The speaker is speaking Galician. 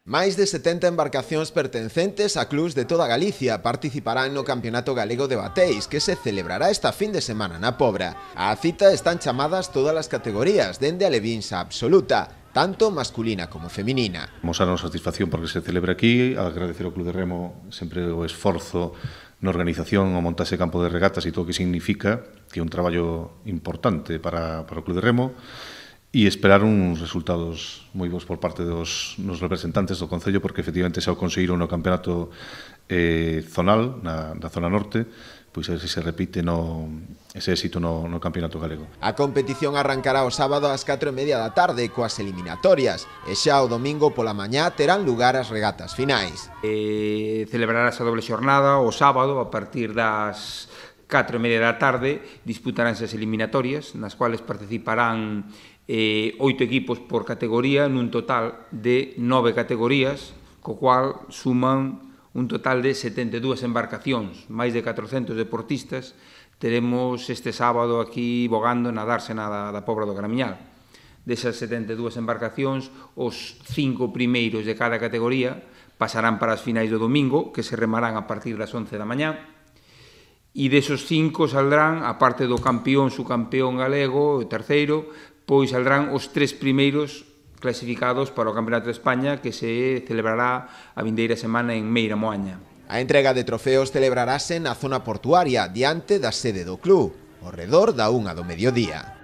Máis de 70 embarcacións pertencentes a clubs de toda Galicia participarán no Campeonato Galego de Bateis, que se celebrará esta fin de semana na Pobra. Á cita están chamadas todas as categorías, dende a levinsa absoluta, tanto masculina como feminina. Mostrar a nosa satisfacción porque se celebra aquí, agradecer ao Club de Remo sempre o esforzo na organización, o montaxe de campo de regatas e todo o que significa, que é un traballo importante para o Club de Remo, e esperar uns resultados moi bons por parte dos representantes do Concello, porque efectivamente xa o conseguiron no campeonato zonal, na zona norte, pois a ver se se repite ese éxito no campeonato galego. A competición arrancará o sábado ás 4:30 da tarde coas eliminatorias e xa o domingo pola mañá terán lugar as regatas finais. Celebrarás a doble xornada o sábado a partir das 4:30 da tarde, disputaránse as eliminatorias, nas cuales participarán 8 equipos por categoría, nun total de 9 categorías, co cual suman un total de 72 embarcacións, máis de 400 deportistas. Teremos este sábado aquí bogando na dársena da Pobra do Gramiñal. Desas 72 embarcacións, os 5 primeiros de cada categoría pasarán para as finais do domingo, que se remarán a partir das 11 da mañá, e desos 5 saldrán, a parte do campeón, subcampeón galego, o terceiro, pois saldrán os 3 primeiros clasificados para o Campeonato de España, que se celebrará a vindeira semana en Meira Moaña. A entrega de trofeos celebrarase na zona portuaria, diante da sede do club, ao redor da 1 do mediodía.